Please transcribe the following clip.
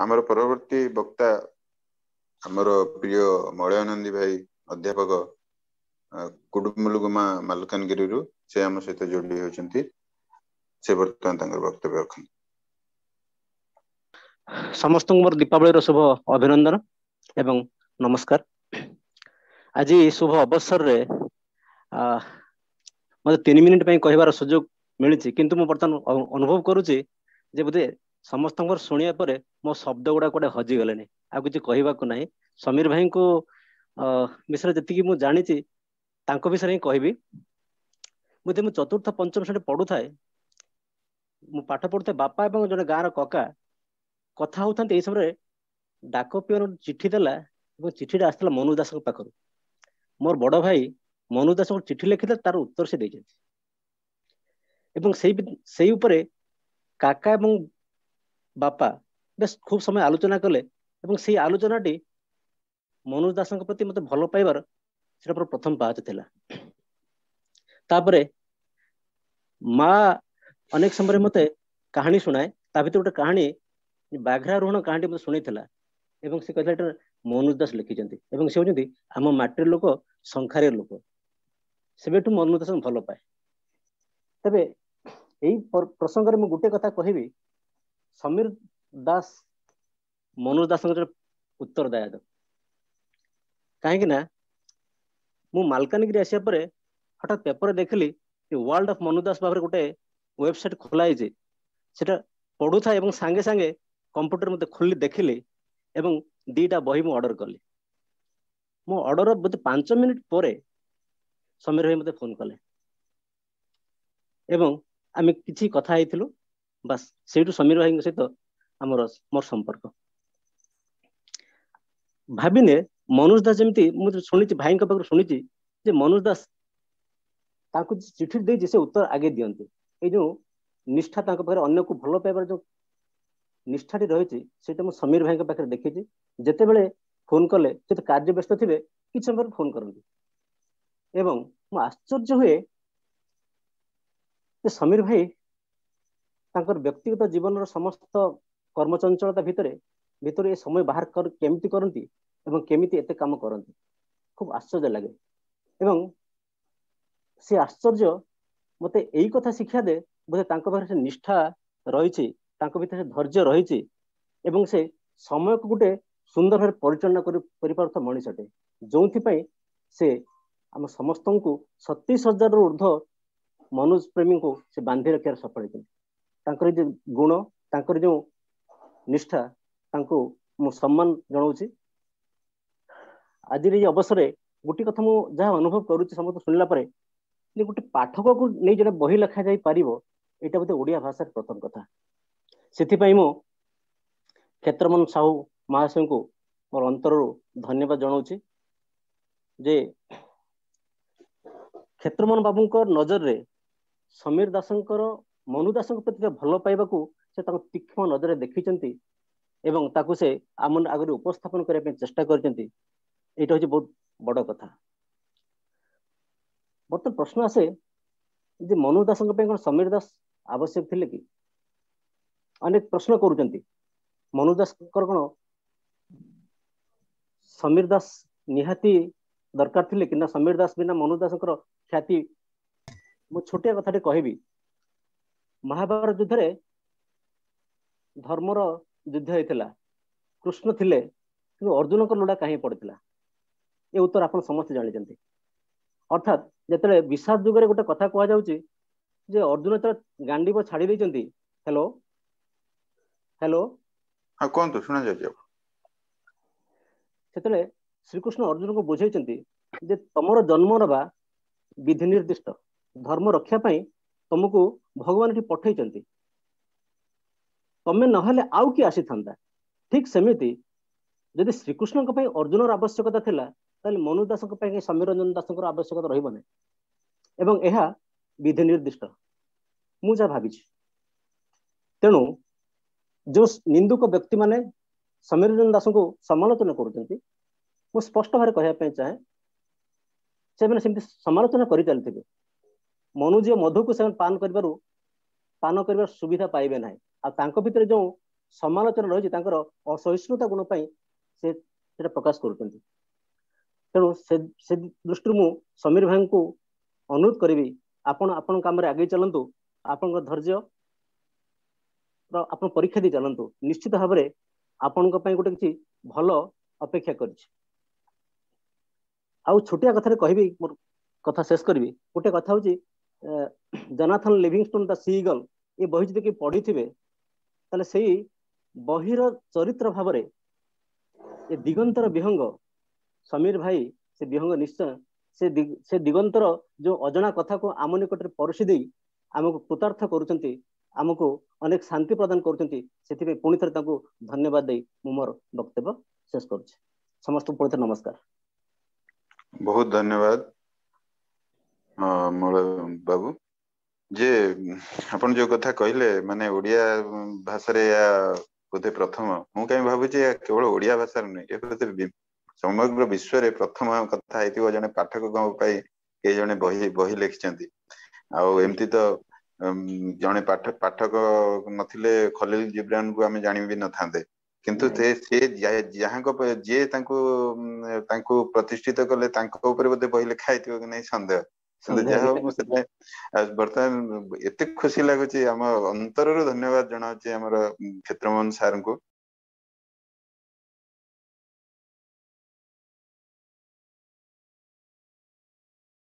ଆମର ପରବର୍ତ୍ତୀ ବକ୍ତା ଆମର ପ୍ରିୟ ମଳୟାନନ୍ଦୀ ଭାଇ, ଅଧ୍ୟାପକ, କୁଡୁମୁଲୁଗୁମା ମାଲକାନଗିରିରୁ ସେ ଆମ ସହିତ ଯୋଡି ହେଉଛନ୍ତି। ସେ ବର୍ତ୍ତମାନ ତାଙ୍କର ବକ୍ତବ୍ୟ ରଖନ୍ତି। ସମସ୍ତଙ୍କୁ ମୋର ଦୀପାବଳିର ଶୁଭ ଅଭିନନ୍ଦନ ଏବଂ ନମସ୍କାର। ଆଜି ଶୁଭ ଅବସରରେ ମତେ 3 ମିନିଟ ପାଇଁ କହିବାର ସୁଯୋଗ ମିଳିଛି, କିନ୍ତୁ ମୁଁ ବର୍ତ୍ତମାନ ଅନୁଭବ କରୁଛି ଯେ ବୋଧେ ସମସ୍ତଙ୍କର ଶୁଣିବା ପରେ ମୋ ଶବ୍ଦ ଗୁଡା କୁଆଡେ ହଜିଗଲେଣି, ଆଉ କିଛି କହିବାକୁ ନାହିଁ। ସମୀର ଭାଇଙ୍କୁ ବିଷୟରେ ଯେତିକି ମୁଁ ଜାଣିଛି ତାଙ୍କ ବିଷୟରେ ହିଁ କହିବି। ବୋଧେ ମୁଁ ଚତୁର୍ଥ ପଞ୍ଚମ ଶ୍ରେଣୀ ପଢୁଥାଏ, ମୁଁ ପାଠ ପଢୁଥାଏ, ବାପା ଏବଂ ଜଣେ ଗାଁର କକା କଥା ହଉଥାନ୍ତି। ଏଇ ସମୟରେ ଡାକ ପିଅନ ଚିଠି ଦେଲା ଏବଂ ଚିଠିଟା ଆସିଥିଲା ମନୋଜ ଦାସଙ୍କ ପାଖରୁ। ମୋର ବଡ ଭାଇ ମନୋଜ ଦାସଙ୍କୁ ଚିଠି ଲେଖିଥିଲେ, ତାର ଉତ୍ତର ସେ ଦେଇଛନ୍ତି ଏବଂ ସେଇ ଉପରେ କାକା ଏବଂ ବାପା ବେଶ ଖୁବ ସମୟ ଆଲୋଚନା କଲେ ଏବଂ ସେଇ ଆଲୋଚନାଟି ମନୋଜ ଦାସଙ୍କ ପ୍ରତି ମତେ ଭଲ ପାଇବାର ସେଟା ମୋର ପ୍ରଥମ ପାହାଚ ଥିଲା। ତାପରେ ମା ଅନେକ ସମୟରେ ମତେ କାହାଣୀ ଶୁଣାଏ, ତା ଭିତରେ ଗୋଟେ କାହାଣୀ ବାଘ୍ରାରୋହଣ କାହାଣୀ ମତେ ଶୁଣେଇଥିଲା ଏବଂ ସେ କହିଥିଲା ଏଟା ମନୋଜ ଦାସ ଲେଖିଛନ୍ତି ଏବଂ ସେ ହଉଛନ୍ତି ଆମ ମାଟିର ଲୋକ, ସଂସାରୀର ଲୋକ। ସେବେଠୁ ମନୋଜ ଦାସଙ୍କୁ ଭଲ ପାଏ। ତେବେ ଏଇ ପ୍ରସଙ୍ଗରେ ମୁଁ ଗୋଟେ କଥା କହିବି, ସମୀର ଦାସ ମନୋଜ ଦାସଙ୍କର ଉତ୍ତର ଦାୟଦ। କାହିଁକି ନା ମୁଁ ମାଲକାନଗିରି ଆସିବା ପରେ ହଠାତ୍ ପେପରରେ ଦେଖିଲି ୱାର୍ଲଡ ଅଫ ମନୋଜ ଦାସ ଭାବରେ ଗୋଟେ ୱେବସାଇଟ ଖୋଲା ହେଇଛି। ସେଟା ପଢୁଥାଏ ଏବଂ ସାଙ୍ଗେ ସାଙ୍ଗେ କମ୍ପ୍ୟୁଟର ମତେ ଖୋଲି ଦେଖିଲି ଏବଂ 2ଟା ବହି ମୁଁ ଅର୍ଡର କଲି। ମୋ ଅର୍ଡର ବୋଧେ 5 ମିନିଟ ପରେ ସମୀର ଭାଇ ମତେ ଫୋନ କଲେ ଏବଂ ଆମେ କିଛି କଥା ହେଇଥିଲୁ। ବାସ୍ ସେଇଠୁ ସମୀର ଭାଇଙ୍କ ସହିତ ମୋର ସମ୍ପର୍କ। ଭାବିନେ ମନୋଜ ଦାସ ଯେମିତି ମୁଁ ଶୁଣିଛି, ଭାଇଙ୍କ ପାଖରୁ ଶୁଣିଛି ଯେ ମନୋଜ ଦାସ ତାଙ୍କୁ ଚିଠି ଦେଇଛି ସେ ଉତ୍ତର ଆଗେ ଦିଅନ୍ତି। ଏଇ ଯୋଉ ନିଷ୍ଠା ତାଙ୍କ ପାଖରେ, ଅନ୍ୟକୁ ଭଲ ପାଇବାର ଯୋଉ ନିଷ୍ଠାଟି ରହିଛି ସେଇଟା ମୁଁ ସମୀର ଭାଇଙ୍କ ପାଖରେ ଦେଖିଛି। ଯେତେବେଳେ ଫୋନ କଲେ, ସେ ତ କାର୍ଯ୍ୟ ବ୍ୟସ୍ତ ଥିବେ, କିଛି ସମୟ ପରେ ଫୋନ କରନ୍ତି ଏବଂ ମୁଁ ଆଶ୍ଚର୍ଯ୍ୟ ହୁଏ ଯେ ସମୀର ଭାଇ ତାଙ୍କର ବ୍ୟକ୍ତିଗତ ଜୀବନର ସମସ୍ତ କର୍ମଚଞ୍ଚଳତା ଭିତରେ ଏ ସମୟ ବାହାର କେମିତି କରନ୍ତି ଏବଂ କେମିତି ଏତେ କାମ କରନ୍ତି, ଖୁବ ଆଶ୍ଚର୍ଯ୍ୟ ଲାଗେ। ଏବଂ ସେ ଆଶ୍ଚର୍ଯ୍ୟ ମତେ ଏଇ କଥା ଶିକ୍ଷା ଦେ ବୋଧେ ତାଙ୍କ ପାଖରେ ସେ ନିଷ୍ଠା ରହିଛି, ତାଙ୍କ ଭିତରେ ସେ ଧୈର୍ଯ୍ୟ ରହିଛି ଏବଂ ସେ ସମୟକୁ ଗୋଟେ ସୁନ୍ଦର ଭାବରେ ପରିଚାଳନା କରିପାରୁଥିବା ମଣିଷଟେ, ଯୋଉଥିପାଇଁ ସେ ଆମ ସମସ୍ତଙ୍କୁ 27,000ରୁ ଉର୍ଦ୍ଧ୍ୱ ମନୋଜ ପ୍ରେମୀଙ୍କୁ ସେ ବାନ୍ଧି ରଖିବାରେ ସଫଳ ହେଇଛନ୍ତି। ତାଙ୍କର ଯୋଉ ଗୁଣ, ତାଙ୍କର ଯୋଉ ନିଷ୍ଠା, ତାଙ୍କୁ ମୁଁ ସମ୍ମାନ ଜଣାଉଛି। ଆଜିର ଏଇ ଅବସରରେ ଗୋଟେ କଥା ମୁଁ ଯାହା ଅନୁଭବ କରୁଛି ସମସ୍ତେ ଶୁଣିଲା ପରେ, ଯେ ଗୋଟେ ପାଠକକୁ ନେଇ ଜଣେ ବହି ଲେଖା ଯାଇପାରିବ, ଏଇଟା ବୋଧେ ଓଡ଼ିଆ ଭାଷାର ପ୍ରଥମ କଥା। ସେଥିପାଇଁ ମୁଁ କ୍ଷେତ୍ରମୋହନ ସାହୁ ମହାଶୟଙ୍କୁ ମୋର ଅନ୍ତରରୁ ଧନ୍ୟବାଦ ଜଣାଉଛି ଯେ କ୍ଷେତ୍ରମୋହନ ବାବୁଙ୍କ ନଜରରେ ସମୀର ଦାସଙ୍କର ମନୁ ଦାସଙ୍କ ପ୍ରତି ଭଲ ପାଇବାକୁ ସେ ତାଙ୍କ ତୀକ୍ଷ୍ଣ ନଜରରେ ଦେଖିଛନ୍ତି ଏବଂ ତାକୁ ସେ ଆମ ଆଗରେ ଉପସ୍ଥାପନ କରିବା ପାଇଁ ଚେଷ୍ଟା କରିଛନ୍ତି। ଏଇଟା ହଉଛି ବହୁତ ବଡ କଥା। ବର୍ତ୍ତମାନ ପ୍ରଶ୍ନ ଆସେ ଯେ ମନୁ ଦାସଙ୍କ ପାଇଁ କଣ ସମୀର ଦାସ ଆବଶ୍ୟକ ଥିଲେ କି? ଅନେକ ପ୍ରଶ୍ନ କରୁଛନ୍ତି, ମନୁ ଦାସଙ୍କର କଣ ସମୀର ଦାସ ନିହାତି ଦରକାର ଥିଲେ କି ନା ସମୀର ଦାସ ବିନା ମନୁ ଦାସଙ୍କର ଖ୍ୟାତି? ମୁଁ ଛୋଟିଆ କଥାଟେ କହିବି, ମହାଭାରତ ଯୁଦ୍ଧରେ ଧର୍ମର ଯୁଦ୍ଧ ହେଇଥିଲା, କୃଷ୍ଣ ଥିଲେ, କିନ୍ତୁ ଅର୍ଜୁନଙ୍କ ଲୋଡ଼ା କାହିଁ ପଡିଥିଲା? ଏ ଉତ୍ତର ଆପଣ ସମସ୍ତେ ଜାଣିଛନ୍ତି। ଅର୍ଥାତ୍ ଯେତେବେଳେ ବିଷାଦ ଯୁଗରେ ଗୋଟେ କଥା କୁହାଯାଉଛି ଯେ ଅର୍ଜୁନ ଯେତେବେଳେ ଗାଣ୍ଡିବ ଛାଡି ଦେଇଛନ୍ତି, ହ୍ୟାଲୋ ହ୍ୟାଲୋ, ହଁ କୁହନ୍ତୁ, ଶୁଣାଯାଉଛି। ସେତେବେଳେ ଶ୍ରୀକୃଷ୍ଣ ଅର୍ଜୁନଙ୍କୁ ବୁଝେଇଛନ୍ତି ଯେ ତମର ଜନ୍ମ ନେବା ବିଧି ନିର୍ଦ୍ଦିଷ୍ଟ, ଧର୍ମ ରକ୍ଷା ପାଇଁ ତମକୁ ଭଗବାନ ଏଠି ପଠେଇଛନ୍ତି, ତମେ ନହେଲେ ଆଉ କିଏ ଆସିଥାନ୍ତା। ଠିକ ସେମିତି ଯଦି ଶ୍ରୀକୃଷ୍ଣଙ୍କ ପାଇଁ ଅର୍ଜୁନର ଆବଶ୍ୟକତା ଥିଲା, ତାହେଲେ ମନୁ ଦାସଙ୍କ ପାଇଁ ସମୀର ରଞ୍ଜନ ଦାସଙ୍କର ଆବଶ୍ୟକତା ରହିବ ନାହିଁ। ଏବଂ ଏହା ବିଧି ନିର୍ଦ୍ଦିଷ୍ଟ, ମୁଁ ଯାହା ଭାବିଛି। ତେଣୁ ଯୋଉ ନିନ୍ଦୁକ ବ୍ୟକ୍ତିମାନେ ସମୀର ରଞ୍ଜନ ଦାସଙ୍କୁ ସମାଲୋଚନା କରୁଛନ୍ତି, ମୁଁ ସ୍ପଷ୍ଟ ଭାବରେ କହିବା ପାଇଁ ଚାହେଁ, ସେମାନେ ସେମିତି ସମାଲୋଚନା କରି ଚାଲିଥିବେ, ମନୁଜୀୟ ମଧୁକୁ ସେମାନେ ପାନ କରିବାର ସୁବିଧା ପାଇବେ ନାହିଁ। ଆଉ ତାଙ୍କ ଭିତରେ ଯୋଉ ସମାଲୋଚନା ରହିଛି, ତାଙ୍କର ଅସହିଷ୍ଣୁତା ଗୁଣ ପାଇଁ ସେ ସେଟା ପ୍ରକାଶ କରୁଛନ୍ତି। ତେଣୁ ସେ ଦୃଷ୍ଟିରୁ ମୁଁ ସମୀର ଭାଇଙ୍କୁ ଅନୁରୋଧ କରିବି, ଆପଣ ଆପଣଙ୍କ କାମରେ ଆଗେଇ ଚାଲନ୍ତୁ, ଆପଣଙ୍କ ଧୈର୍ଯ୍ୟ ଆପଣ ପରୀକ୍ଷା ଦେଇ ଚାଲନ୍ତୁ, ନିଶ୍ଚିତ ଭାବରେ ଆପଣଙ୍କ ପାଇଁ ଗୋଟେ କିଛି ଭଲ ଅପେକ୍ଷା କରିଛି। ଆଉ ଛୋଟିଆ କଥାରେ କହିବି, ମୋର କଥା ଶେଷ କରିବି। ଗୋଟେ କଥା ହଉଛି, ଜନାଥନ ଲିଭିଂଷ୍ଟୋନ ଦ ସି ଇଗଲ ଏ ବହି ଯଦି କେହି ପଢିଥିବେ, ତାହେଲେ ସେଇ ବହିର ଚରିତ୍ର ଭାବରେ ଏ ଦିଗନ୍ତର ବିହଙ୍ଗ ସମୀର ଭାଇ, ସେ ବିହଙ୍ଗ ନିଶ୍ଚୟ ସେ ଦିଗନ୍ତର ଯୋଉ ଅଜଣା କଥାକୁ ଆମ ନିକଟରେ ପରସି ଦେଇ ଆମକୁ କୃତାର୍ଥ କରୁଛନ୍ତି, ଆମକୁ ଅନେକ ଶାନ୍ତି ପ୍ରଦାନ କରୁଛନ୍ତି। ସେଥିପାଇଁ ପୁଣି ଥରେ ତାଙ୍କୁ ଧନ୍ୟବାଦ ଦେଇ ମୁଁ ମୋର ବକ୍ତବ୍ୟ ଶେଷ କରୁଛି। ସମସ୍ତଙ୍କୁ ପୁଣି ଥରେ ନମସ୍କାର। ବହୁତ ଧନ୍ୟବାଦ ମଳୟ ବାବୁ। ଯେ ଆପଣ ଯୋଉ କଥା କହିଲେ, ମାନେ ଓଡିଆ ଭାଷାରେ ଏହା ବୋଧେ ପ୍ରଥମ, ମୁଁ କାହିଁ ଭାବୁଛି ଏହା କେବଳ ଓଡିଆ ଭାଷାରେ ନୁହେଁ, ଏ ବୋଧେ ସମଗ୍ର ବିଶ୍ୱରେ ପ୍ରଥମ କଥା ହେଇଥିବ, ଜଣେ ପାଠକଙ୍କ ପାଇଁ କେହି ଜଣେ ବହି ଲେଖିଛନ୍ତି। ଆଉ ଏମିତି ତ ଜଣେ ପାଠକ ନଥିଲେ ଖଲିଲ ଜିବ୍ରାନକୁ ଆମେ ଜାଣିବି ନଥାନ୍ତେ, କିନ୍ତୁ ସେ ଯାହାଙ୍କ ଯିଏ ତାଙ୍କୁ ପ୍ରତିଷ୍ଠିତ କଲେ, ତାଙ୍କ ଉପରେ ବୋଧେ ବହି ଲେଖା ହେଇଥିବ କି ନାହିଁ ସନ୍ଦେହ। କିନ୍ତୁ ଯାହା ହଉ, ମୁଁ ସେଥିପାଇଁ ବର୍ତ୍ତମାନ ଏତେ ଖୁସି ଲାଗୁଛି, ଆମ ଅନ୍ତରରୁ ଧନ୍ୟବାଦ ଜଣାଉଛି ଆମର କ୍ଷେତ୍ରମୋହନ ସାରଙ୍କୁ।